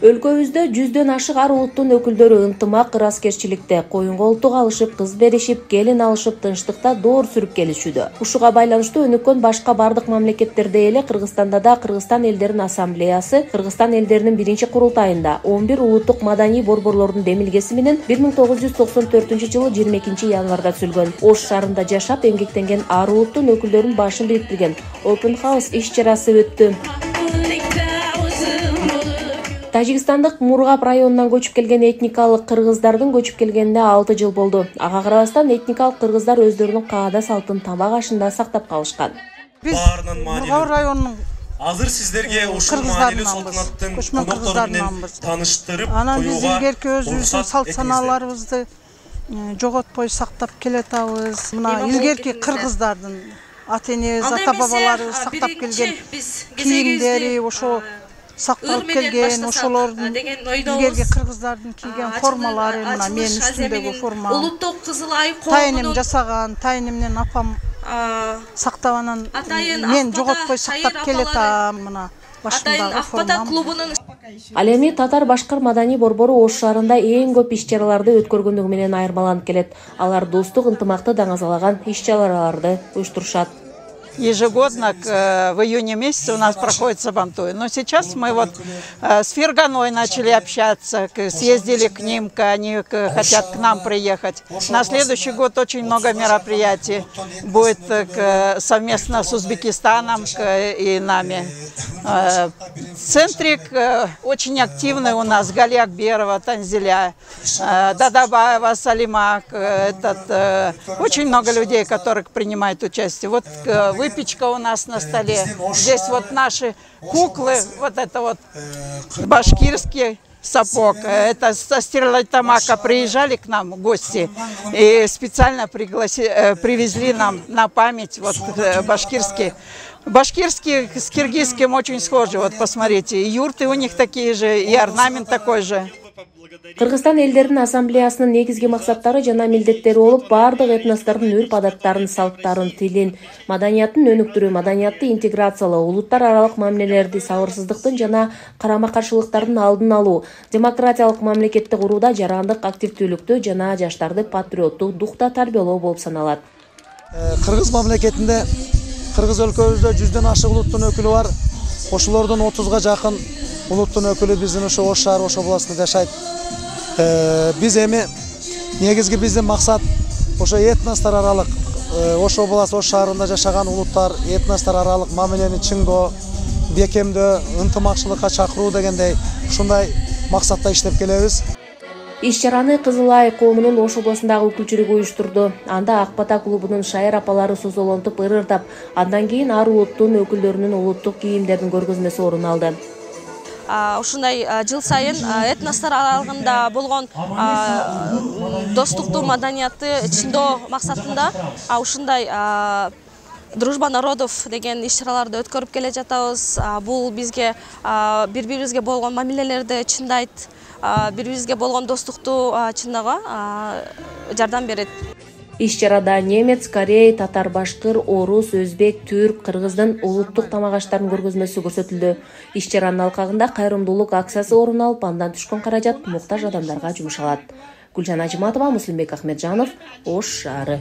Өлкөбүздө 100дөн ашык ар улуттун өкүлдөрү ынтымак, ыраскерчиликте, коюн колтук алышып, кыз беришип, келин алышып, тынчтыкта доор сүрүп келишүүдө. Ушуга байланыштуу өнүккөн башка бардык мамлекеттерде эле Кыргызстанда да Кыргызстан элдеринин ассамблеясы Кыргызстан элдеринин биринчи курултайында 11 улуттук маданий борборлордун демилгеси менен 1994-жылы 22-январда түзүлгөн. Ош шаарында жашап эмгектенген ар улуттун өкүлдөрүнүн башын бириктирген Open House иш-чарасы өттү. Тажикстандык Мургап районунан көчүп келген этникалык кыргыздардын көчүп келгенине 6 жыл болду. Ага карабастан этникалык кыргыздар өздөрүнүн каада салтын табак ашында сактап калышкан. Биз Мургап районунун азыр сиздерге ушул маанилүү салтанаттын коноктору менен тааныштырып коюуга. Анан биз илгерки өзүбүздүн салт санааларыбызды жоготпой сактап келатабыз. Мына илгерки кыргыздардын ата-энебиз, ата-бабаларыбыз сактап келген кийимдери ошо сакталып келген, ошолордун илгерки кыргыздардын кийген формалары, мына менин үстүмдөгү форма. Улуттук Кызыл Ай Тайнем жасаган, тайнемден апам сактап анан мен жоготпой сактап келатам, мына башымдагы формам. Ал эми татар-башкыр маданий борбору Ош шаарында эң көп иш-чараларды өткөргөндүгү менен айырмаланып келет. Алар достук, ынтымакты даңазалаган иш-чараларды уюштурушат. Ежегодно в июне месяце у нас проходит Сабантуй. Но сейчас мы вот с Ферганой начали общаться, съездили к ним, они хотят к нам приехать. На следующий год очень много мероприятий будет совместно с Узбекистаном и нами. Центрик очень активный у нас, Гали Акберова, Танзиля, Дадабаева, Салима. Очень много людей, которые принимают участие. Вот выпечка у нас на столе. Здесь вот наши куклы, вот это вот башкирский сапог. Это со Стерлитамака приезжали к нам гости и специально привезли нам на память вот башкирский. Башкирский с киргизским очень схожи, вот посмотрите. И юрты у них такие же, и орнамент такой же. Кыргызстан элдеринин ассамблеясынын негизги максаттары жана милдеттери болуп, бардык этностордун үрп-адаттарын, салттарын, тилин, маданиятын өнүктүрүү, маданиятты интеграциялоо, улуттар аралык мамилелерди, сабырсыздыктын жана карама-каршылыктардын алдын алуу, демократиялык мамлекетти курууда жарандык активдүүлүктү жана жаштарды патриоттук духта тарбиялоо болуп саналат. Кыргыз мамлекетинде, Кыргыз өлкөбүздө 100дөн ашык улуттун өкүлү бар. Ошолордун 30га жакын улуттун өкүлү биздин ошо Ош шаары, Ош областында жашайт. Биз эми негизги биздин максат ошо этностор аралык Ош областы, Ош шаарында жашаган улуттар этностор аралык мамилени чыңдоо, бекемдөө, ынтымакчылыкка чакыруу дегендей ушундай максатта иштеп келебиз. Иш-чараны Кызыл Ай коомунун Ош областындагы өкүлчүлүгү уюштурду. Анда Ак бата клубунун шайыр апалары созолонтуп ырырдап, андан кийин ар улуттун өкүлдөрүнүн улуттук кийимдердин көргөзмөсү орун алды. Ушундай жыл сайын этностор аралыгында болгон достукту, маданиятты чыңдоо максатында ушундай Дружба народов деген иш-чараларды өткөрүп келе жатабыз. Бул бизге бири-бирибизге болгон мамилелерди чындайт, бири-бирибизге болгон достукту чындоого жардам берет. Иш-чарада немец, корей, татар-башкыр, орус, өзбек, түрк, кыргыздын улуттук тамак аштарынын көргөзмөсү көрсөтүлдү. Иш-чаранын алкагында кайрымдуулук акциясы орун алып, андан түшкөн каражат муктаж адамдарга жумшалат. Гүлжан Ажиматова, Муслимбек Ахмеджанов, Ош шаары.